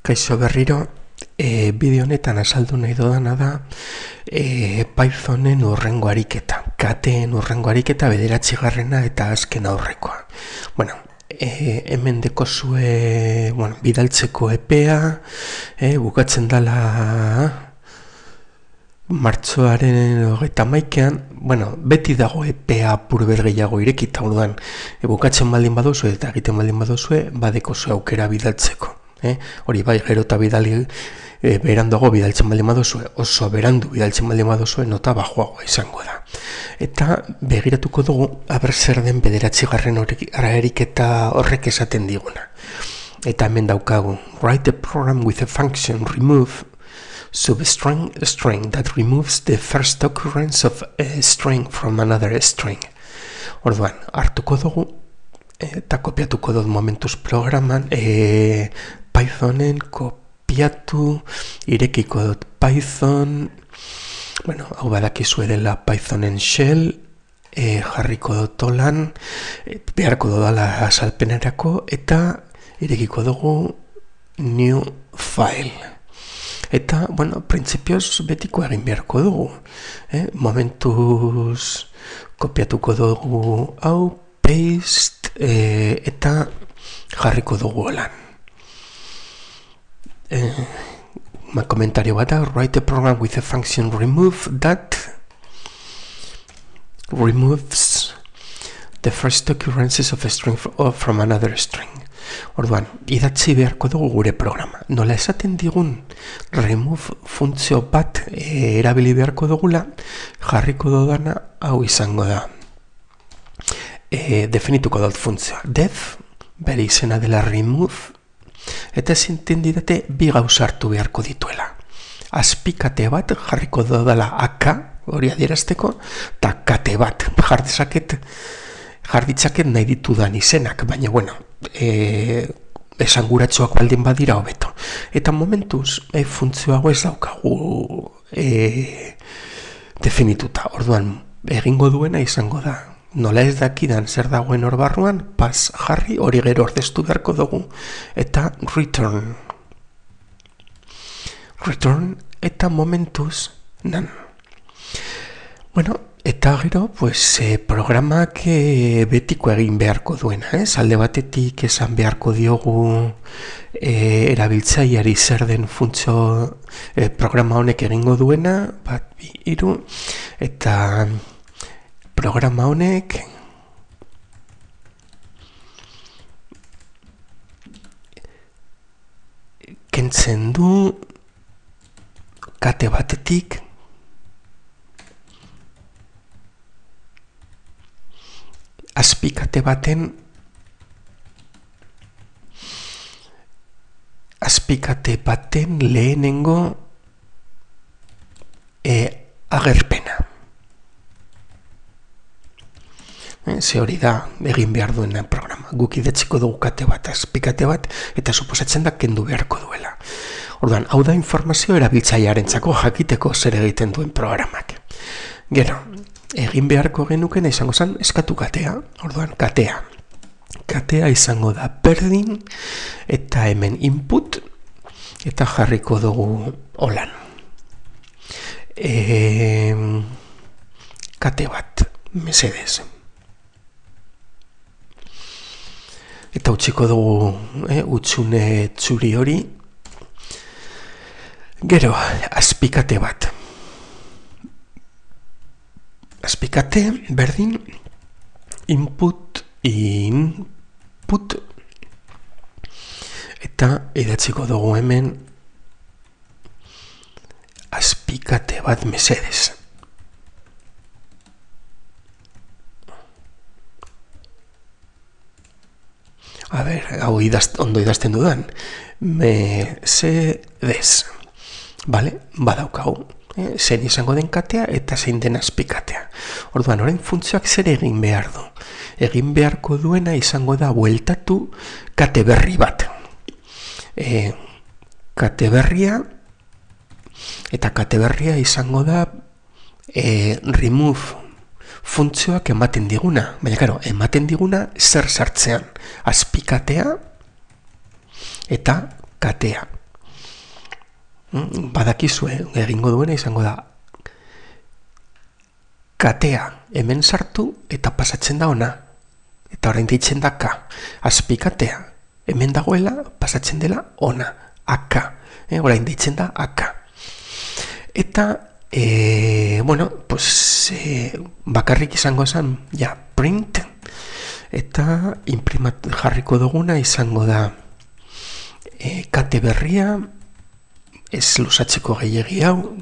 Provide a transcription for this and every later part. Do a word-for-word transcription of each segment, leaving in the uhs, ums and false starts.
Kaixo berriro, e, bideo honetan azaldu nahi dodana da e, Pythonen hurrengo ariketa, kateen hurrengo ariketa bederatzigarrena eta azken aurrekoa. Bueno, e, hemen dekozue, bueno, bidaltzeko epea, e, bukatzen dala martxoaren hogeita hamaikaan, bueno, beti dago epea apur gehiago irekita, orduan, e, bukatzen baldin baduzue eta egiten baldin baduzue, badekozue aukera bidaltzeko. Eh? Hori bai, gero eta bidali e, beranduago bidaltzen baldin baduzue, oso berandu bidaltzen baldin baduzue, nota bajoagoa izango da. Eta begiratuko dugu, aber zer den bederatzigarren ariketa horrek esaten diguna. Eta hemen daukagu, write a program with a function remove substring a string that removes the first occurrence of a string from another string. Orduan, hartuko dugu, eta kopiatuko dut momentuz programan, e, Pythonen kopiatu, irekiko dut Python, bueno, hau badakizue dela Pythonen shell, e, jarriko dut holan, e, beharko dudala azalpenerako, eta irekiko dugu new file. Eta, bueno, printzipioz betiko egin beharko dugu. Eh? Momentuz kopiatuko dugu hau, paste, e, eta jarriko dugu holan. Eh, komentario bat da, write a program with a function remove that removes the first occurrences of a string from another string. Orduan, idatzi beharko dugu gure programa. Nola esaten digun remove funtzio bat e, erabili beharko dugula, jarriko dudana hau izango da. E, definituko dut funtzioa. Def, bere izena dela remove, eta zinten didate bi gauza hartu beharko dituela. Azpikate bat jarriko dudala aka, hori adierazteko, eta kate bat jardizaket, jarditzaket nahi ditudan izenak, baina bueno, e, esanguratsuak baldin badira hobeto. Eta momentuz, e, funtzioago ez daukagu e, definituta. Orduan, egingo duena izango da. Nola ez dakidan zer dagoen hor barruan, pas jarri hori gero ordeztu beharko dugu. Eta return. Return eta momentuz nan. Bueno, eta gero, pues, eh, programak eh, betiko egin beharko duena, eh? Alde batetik esan beharko diogu eh, erabiltzaileari zer den funtzio eh, programa honek egingo duena, bat, bi, hiru, eta programa honek kentzen du kate batetik azpikate baten azpikate baten lehenengo e, agerpena. E, ze hori da egin behar duena programa. Guk idatziko dugu kate bat, azpikate bat, eta suposatzen da kendu beharko duela. Orduan, hau da informazio erabiltzailearentzako jakiteko zer egiten duen programak. Gero, egin beharko genuken izango zen eskatu katea, orduan katea. Katea izango da berdin eta hemen input eta jarriko dugu holan. E, kate bat, mesedez. Eta utziko dugu eh, utzune txuri hori. Gero, azpikate bat. Azpikate, berdin, input, input, eta idatziko dugu hemen azpikate bat mesedez. A ber, hau idaz, ondo idazten dudan. Mesedez. Bale, badaukagu. Eh, zein izango den katea eta zein den azpikatea. Orduan, orain funtzioak zer egin behar du. Egin beharko duena izango da bueltatu kate berri bat. E, kate berria eta kate berria izango da e, remove funtzioak ematen diguna. Baina, karo, ematen diguna zer sartzean. Azpikatea eta katea. Badakizue, egingo duena izango da katea hemen sartu eta pasatzen da ona. Eta orain ditzen da ka. Azpikatea hemen dagoela pasatzen dela ona. Aka. Eh, orain ditzen da aka. Eta, e, bueno, pues, e, bakarrik izango esan, ja, print. Eta imprimat jarriko duguna izango da e, kate berria, ez lusatzeko gehiagi hau,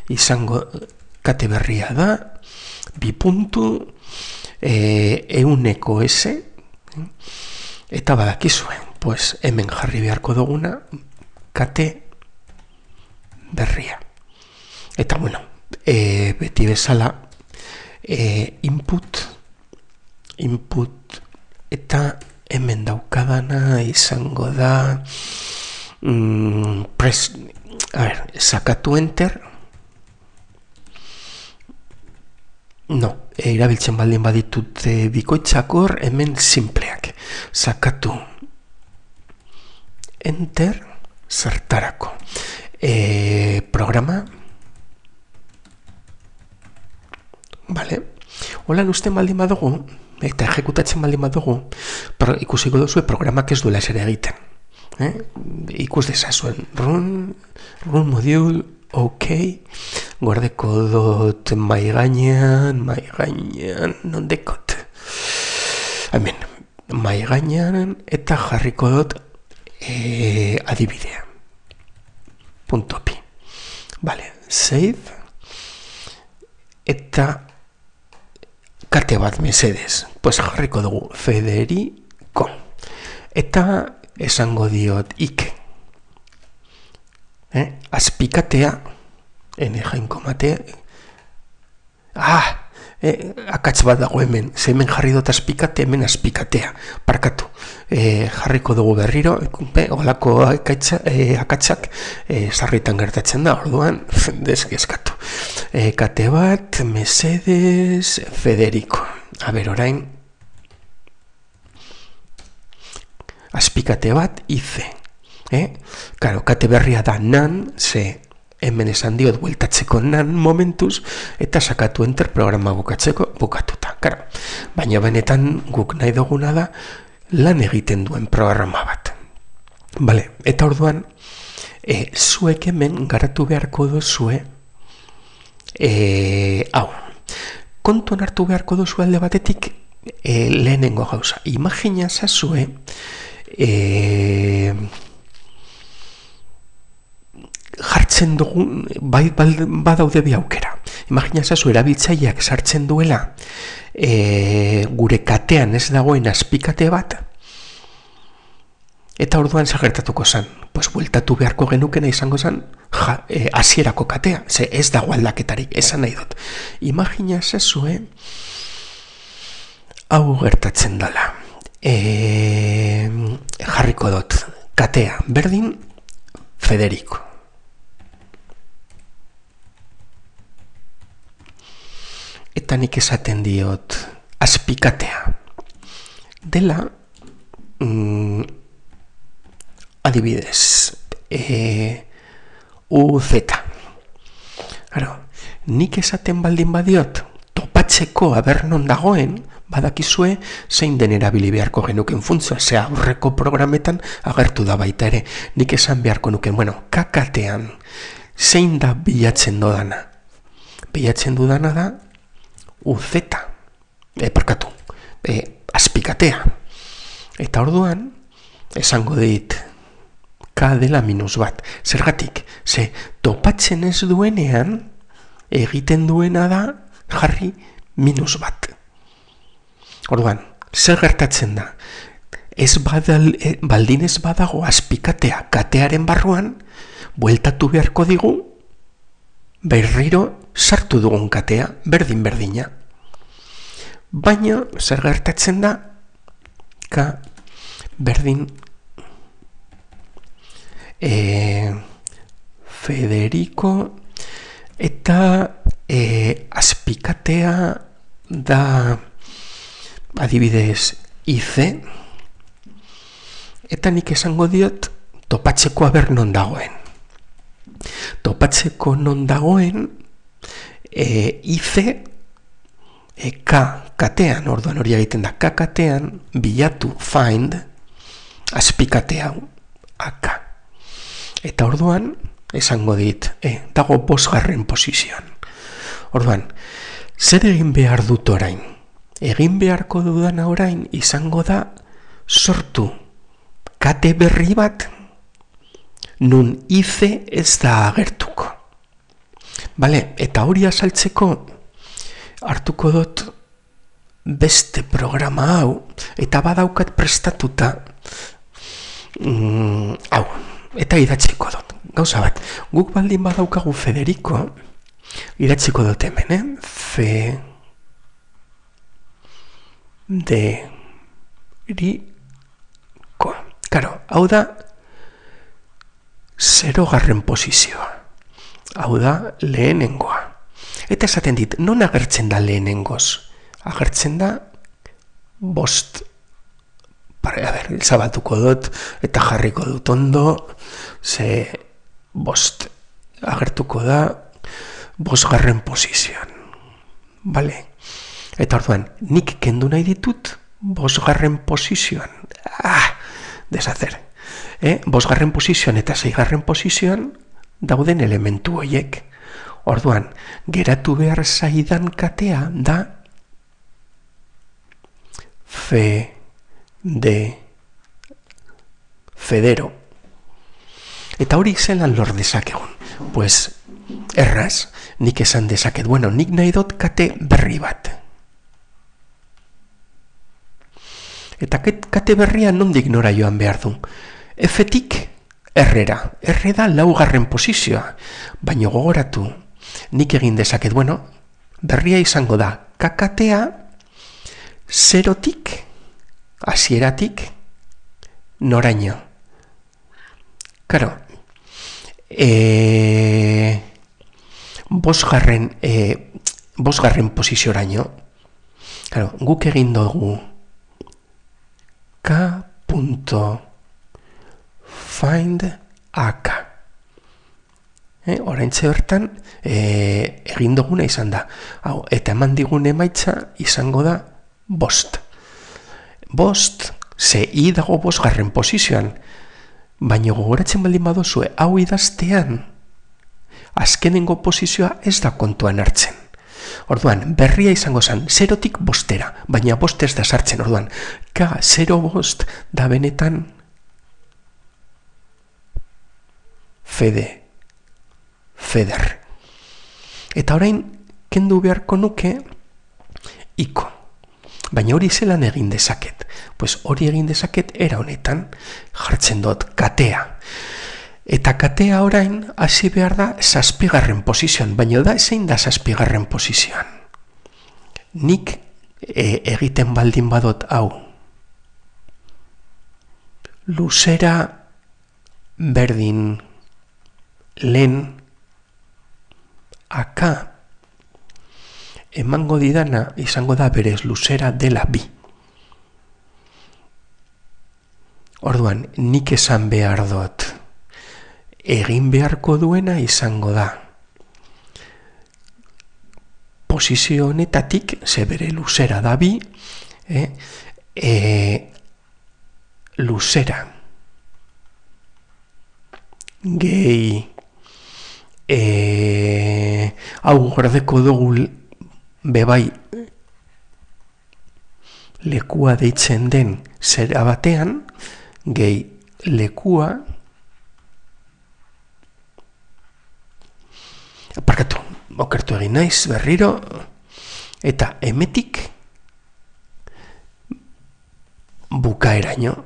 izango kate berria da, bi puntu, e, euneko ese, eta badakizue, pues hemen jarri beharko duguna, kate berria. Eta bueno, e, beti bezala, e, input, input, eta hemen daukadana izango da, mm, press, a ver, sakatu enter, no, e, irabiltzen baldin baditut e, bikoitzakor, hemen simpleak, sakatu enter, zertarako, e, programa, vale, holan usten baldin badugu, eta ejekutatzen baldin badugu, pro, ikusiko duzue programak ez duela esere egiten. Eh? Ikus dezazuen, run, run module, ok, gordeko dut mai gainean, mai gainean, non dekot. Hemen, mai gainean, eta jarriko dut e, adibidea. Punto pi. Vale, save, eta kate bat mesedez, pues jarriko dugu Federico, eta esango diot ik, eh? Azpikatea, ene jainko matea, ah, eh, akatz bat dago hemen, ze hemen jarri dut azpikate, hemen azpikatea, parkatu, eh, jarriko dugu berriro, eh, olako akaitza, eh, akatzak eh, sarritan gertatzen da, orduan, deskezkatu. E, kate bat, mesedez, Federico. A ber, orain, azpikate bat, ize. Eh? Karo, kate berria da nan, ze hemen esan diot bueltatzeko nan momentuz, eta sakatu enter programa bukatzeko bukatuta. Karo, baina benetan guk nahi duguna da lan egiten duen programa bat. Vale, eta orduan, e, zuek hemen garatu beharko duzue, E, hau, kontuan hartu beharko duzu alde batetik e, lehenengo gauza. Imagina zazue e, jartzen dugun, bai badaude bi aukera. Imagina zazue erabiltzaileak sartzen duela e, gure katean ez dagoen azpikate bat, eta orduan zagertatuko zen. Pues bueltatu beharko genukena izango zen ja, e, hasierako katea, ze ez dago aldaketarik, esan nahi dut. Imagina zezue hau gertatzen dela. E, jarriko dut katea berdin Federico. Eta nik esaten diot azpikatea dela mm, adibidez, e, U Z. Claro, nik esaten baldin badiot, topatzeko aber non dagoen, badakizue zein den erabili beharko genuken funtzioa, ze aurreko programetan agertu da baita ere. Nik esan beharko nuken, bueno, kakatean, zein da bilatzen dodana? Bilatzen dudana da U Z, e, parkatu, e, azpikatea. Eta orduan, esango dit, K dela minus bat. Zergatik, ze topatzen ez duenean, egiten duena da jarri minus bat. Orduan, zer gertatzen da? Ez badal, e, baldin ez badago azpikatea katearen barruan, bueltatu beharko digu, berriro sartu dugun katea, berdin-berdina. Baina, zer gertatzen da? K berdin E, Federico eta e, azpikatea da adibidez ize, eta nik esango diot topatzeko aber non dagoen. topatzeko non dagoen e, ize e, K katean, orduan hori egiten da K katean, bilatu, find, azpikatea aka. Eta orduan, esango dit, e, dago bosgarren posizioan. Orduan, zer egin behar dut orain? Egin beharko dudan orain izango da sortu kate berri bat nun ize ez da agertuko. Bale, eta hori azaltzeko hartuko dut beste programa hau, eta badaukat prestatuta mm, hau, eta idatziko dut. Gauza bat, guk baldin badaukagu Federico, idatziko dut hemen, eh? Fe... de... ri... ko. Karo, hau da zero garren posizioa. Hau da lehenengoa. Eta esaten dit, non agertzen da lehenengoz? Agertzen da bost. Pare, a ber, zabatuko dut eta jarriko dut ondo, ze bost. Agertuko da bosgarren posizioan. Bale? Eta orduan, nik kendu nahi ditut bosgarren posizioan. Ah, deshacer. Eh? Bosgarren posizioan eta seigarren posizioan dauden elementu horiek. Orduan, geratu behar zaidan katea da fe de federo. Eta hori zelan lor dezakegun. Pues, erraz, nik esan dezaket. Bueno, nik nahi dut kate berri bat. Eta kate berria nondik nora joan behar du. F-tik errera. Erre da laugarren posizioa. Baina gogoratu, nik egin dezaket, bueno, berria izango da kakatea zerotik, hasieratik, noraino. Karo, e, bosgarren, e, bosgarren pozizioraino, karo, guk egin dugu k.find aka. Eh, oraintxe bertan eh, egin duguna izan da. Hau, eta eman digun emaitza izango da bost. Bost, ze i dago bosgarren posizioan. Baina gogoratzen baldin badozue, hau idaztean, azkenengo posizioa ez da kontuan hartzen. Orduan, berria izango zen, zerotik bostera, baina bost ez da sartzen. Orduan, ka, zero bost da benetan fede. Feder. Eta orain, kendu beharko nuke iko. Baina hori zelan egin dezaket. Pues hori egin dezaket era honetan jartzen dut katea. Eta katea orain hasi behar da zazpigarren posizioan. Baina da zein da zazpigarren posizioan. Nik e, egiten baldin badot hau. Luzera berdin lehen aka emango didana izango da berez luzera dela bi. Orduan, nik esan behar dut egin beharko duena izango da posizio honetatik, ze bere luzera da bi, eh, e, luzera gehi E, hau gordeko dugu bebai lekua deitzen den zera batean, gehi lekua aparkatu, okertu egin naiz berriro, eta emetik bukaeraino,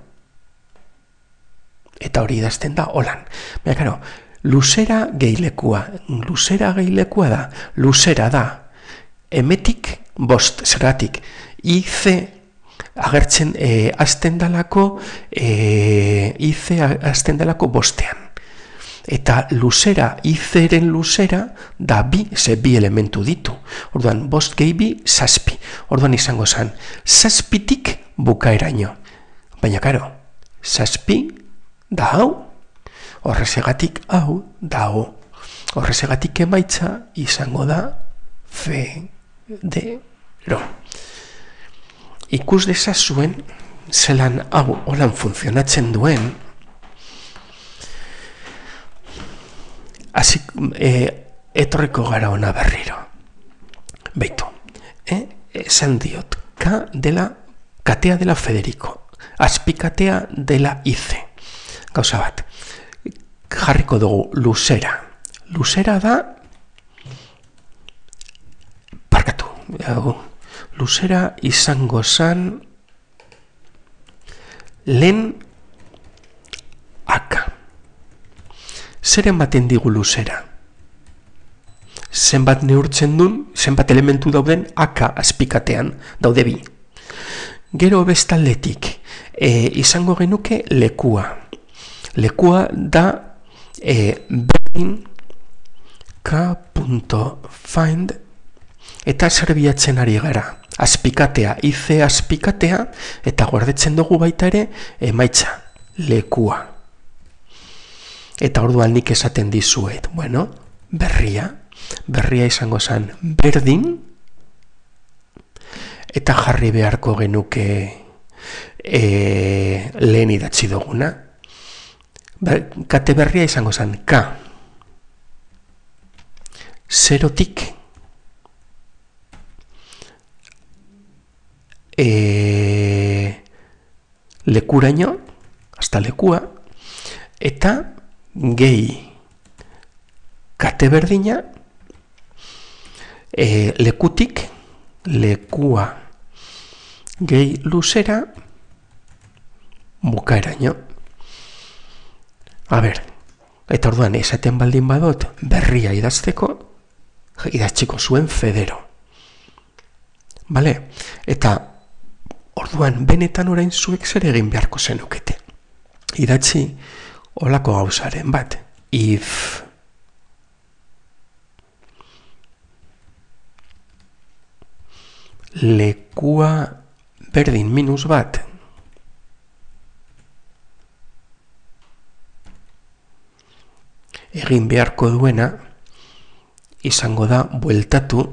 eta hori idazten da holan. Baina, karo, luzera gehilekua. Luzera gehilekua da. Luzera da. Emetik bost, zeratik. Ize agertzen e, azten dalako, e, ize azten dalako bostean. Eta luzera, izeren luzera, da bi, ze bi elementu ditu. Orduan, bost gehi bi, zazpi. Orduan izango zen, zazpitik bukaeraino. Baina, karo, zazpi da hau, horrezegatik hau dago. Horrezegatik emaitza izango da federo. Ikus dezazuen zelan hau holan funtzionatzen duen, hasi e, etorriko gara ona berriro. Beitu, eh? esan diot, K dela, katea dela Federico, azpikatea dela Ize. Gauza bat, jarriko dugu luzera. Luzera da, parkatu, luzera izango zan lehen aka. Zer ematen digu luzera? Zenbat neurtzen duen, zenbat elementu dauden aka azpikatean, daude bi. Gero bestaldetik, e, izango genuke lekua. Lekua da e, berdin k.find eta zerbiatzen ari gara. Azpikatea, ize azpikatea, eta gordetzen dugu baita ere, emaitza, lekua. Eta orduan nik esaten dizuet, bueno, berria, berria izango zen berdin, eta jarri beharko genuke e, lehen idatzi duguna. Kate berria izango zen K. Zerotik E, lekuraino, hasta lekua, eta gehi kate berdina, e, lekutik, lekua gehi luzera, bukaeraino. A ber, eta orduan esaten baldin badot berria idazteko, idatziko zuen Federo. Vale? Eta orduan, benetan orain zuek zer egin beharko zenukete. Idatzi olako gauzaren bat. If lekua berdin minus bat egin beharko duena izango da bueltatu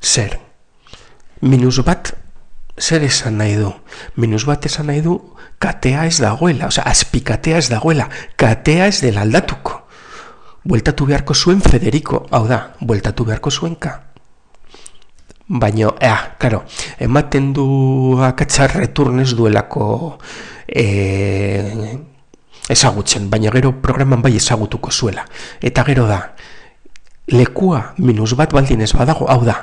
zer. Minus bat, zer esan nahi du? Minus bat esan nahi du, katea ez dagoela, oza, azpikatea ez dagoela, katea ez dela aldatuko. Bueltatu beharko zuen Federico, hau da, bueltatu beharko zuen K. Baina, ea, karo, ematen du akatsa returnez duelako e, ezagutzen, baina gero programan bai ezagutuko zuela. Eta gero da, lekua minus bat baldin ez badago, hau da,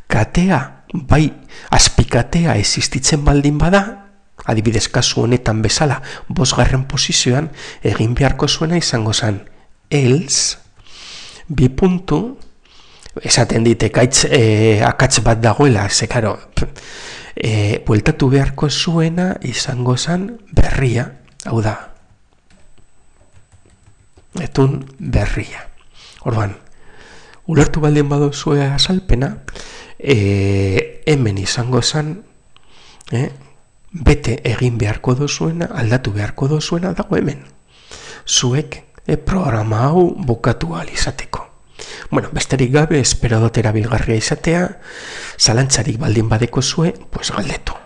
katea, bai, azpikatea existitzen baldin bada, adibidez kasu honetan bezala, bosgarren posizioan, egin beharko zuena izango zen, else, bi puntu, esaten dit, ekaitz, e, akatz bat dagoela, ze karo, e, bueltatu beharko zuena izango zen berria, hau da, etun berria. Orduan, ulertu baldin baduzue azalpena, e, hemen izango zen, e, bete egin beharko dozuena, aldatu beharko dozuena dago hemen. Zuek e, programa hau bukatu ahal izateko. Bueno, besterik gabe, espero dut erabilgarria izatea, zalantzarik baldin badeko zue, pues galdetu.